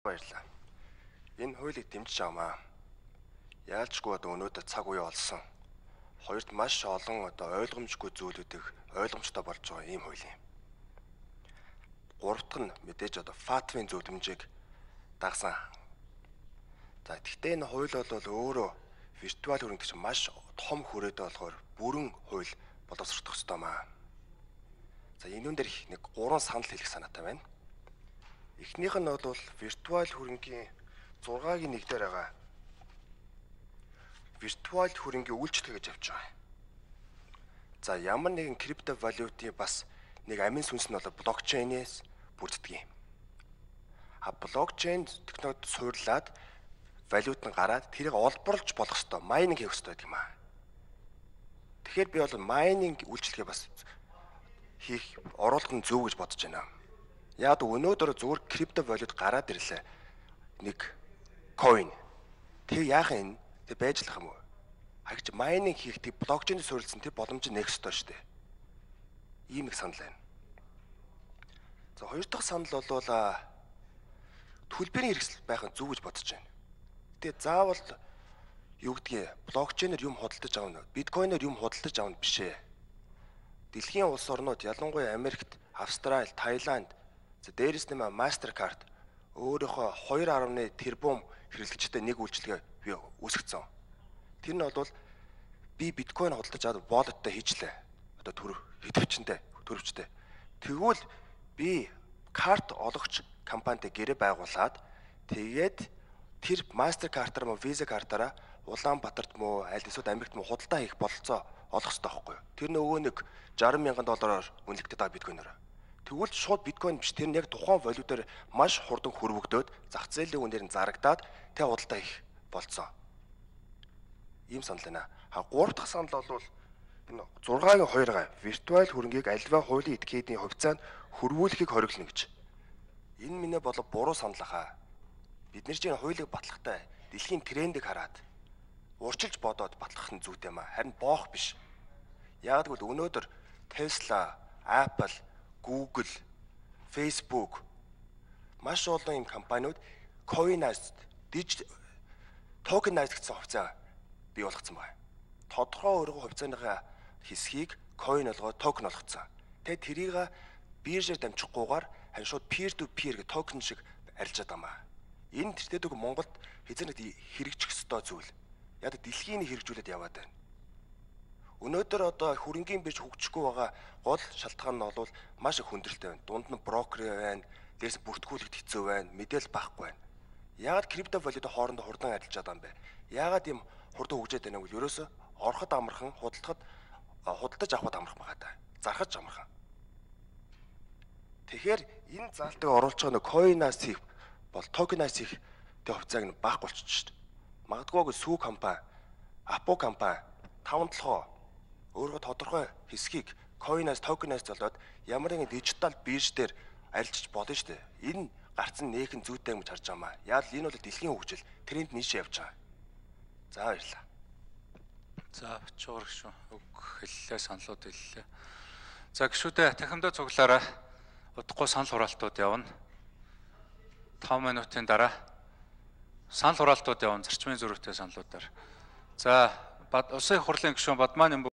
баярлалаа. Энэ хуулийг дэмжиж авмаа. Яалчгүй одоо өнөөдөр цаг үе олсон. Хоёрт маш олон одоо ойлгомжгүй зүйлүүдийг ойлгомжтой болж байгаа ийм хууль юм. Гуравт нь мэдээж одоо ФАТФ-ийн зөвлөмжийг дагсан. За гэхдээ энэ хууль бол өөрөө виртуал хөрөнгө чинь маш том хүрээтэй болохоор бүрэн хууль боловсрох ёстой маа. За энэ дээр нэг 3 санал хэлэх санаатай байна. Эхнийх нь бол виртуал хөрөнгийн 6-гийн 1 дээр байгаа. Виртуал хөрөнгийн үйлчлэл гэж явж байгаа. За ямар нэгэн криптовалютын бас нэг амин сүнс нь бол блокчейнээс бүрддэг юм. Блокчейн технологид суурлаад валют нь гараад тэрийг олборлож болох ёстой, майнинг хийх ёстой гэдэг юм аа. Тэгэхээр би бол майнинг үйлчлэгээ бас хийх оруулах нь зөв гэж бодож байна. Яг өнөөдөр зүгээр криптовалют гараад ирлээ. Нэг coin. Тэг яах юм? Тэг байж лах юм уу? Хагч майнинг хийхдээ блокчейнд суурилсан тэр боломж нэг ёстой шүү дээ. Ийм нэг санал байна. За хоёр дахь санал бол төлбөрийн хэрэгсэл байх нь зөв гэж бодож байна. Гэтэ заавал юу гэдгийг блокчейнээр юм худалдаж авна, биткойноор юм худалдаж авна биш ээ. Дэлхийн улс орнууд ялангуяа Америкт, Австрали, Таиланд, за дээрэс нэмээ MasterCard өөрийнхөө 2.1 тэрбум хэрэглэгчтэй нэг үйлчилгээ би үүсгэсэн. Тэр нь бол би биткойн худалдаж аваад wallet-тай хийчлээ. Одоо төрөвчтэй. Тэгвэл би карт олгогч компанитай гэрээ байгуулад тэгээд тэр MasterCard-аар мөн Visa картаараа Улаанбаатарт мөн аль эсвэл Америкт мөн худалдаа хийх бололцоо олох хэрэгтэй байхгүй юу? Тэр нөгөө нэг $60,000 үнэлэгдэж байгаа биткойноор. Тэгвэл шууд биткойн биш, тэр нь яг тухайн валютаар маш хурдан хөрвөгдөөд зах зээлийн үнээр нь зарагдаад тэ худалдаа хийх болцоо. Ийм санал байна. Гурав дахь санал бол энэ 6-гийн 2-га виртуал хөрөнгийг альва хуулийн этикетийн хувьцаанд хөрвүүлэхийг хориглоно гэж. Энэ минь бол буруу санал хаа. Бид нар чинь хуулийг батлахтай дэлхийн трендийг хараад урчилж бодоод батлах нь зүйтэй маа. Харин боох биш. Яг гэвэл өнөөдөр Tesla, Apple, Google, Facebook маш олон юм компаниуд coinized, tokenized гэсэн хувьцаа бий болгоцсон байна. Тодорхой өргөн хувьцааныхаа хэсгийг coin болгоод токен болгоцсон. Тэгээд тэрийг биржээр дамжихгүйгээр харин шууд peer to peer гэх токен шиг арилжаад байгаа. Энэ тэртээдэг Монголд хэзээ нэг хэрэгжих ёстой зүйл. Яг дэлхийн хэрэгжүүлээд яваад байна. Өнөөдөр одоо хөрөнгийн бирж хөгжихгүй байгаа гол шалтгаан нь бол маш их хүндрэлтэй байна. Дунд нь брокер байна, дээрс бүртгүүлэгт хэцүү байна, мэдээлэл байхгүй байна. Яагаад криптовалютын хоорондоо хурдан арилжаад байгаа юм бэ? Яагаад ийм хурдан хөгжөөд байна вэ? Ерөөсө ороход амархан, худалдаж авахд амархан байгаа даа. Зархаж амархан. Тэгэхээр энэ заалтыг оруулж байгаа нэг coin-аас хийх бол token-аас хийх тэ хувьцааг нь баах болчихж шүү дээ. Магадгүй сүү компани, Апо компани 5-7 өөрөө тодорхой хэсгийг coin-аас token-аас золоод ямар нэгэн дижитал бирж дээр арилжиж болно шүү дээ. Энэ гарцсан нээхэн зүйтэй юм гэж харж байгаа маа. Яг л энэ бол дэлхийн хөгжил, тренд нийшээ явж байгаа. За баярлалаа. За бочоор гişүн үг хэллээ, саналууд хэллээ. За гişүүдээ тахимдаа цуглаараа удахгүй санал хураалтууд явна. 5 минутын дараа санал хураалтууд явна зарчмын зөрүүтэй саналуудаар. За усын хурлын гишүүн Бадмааны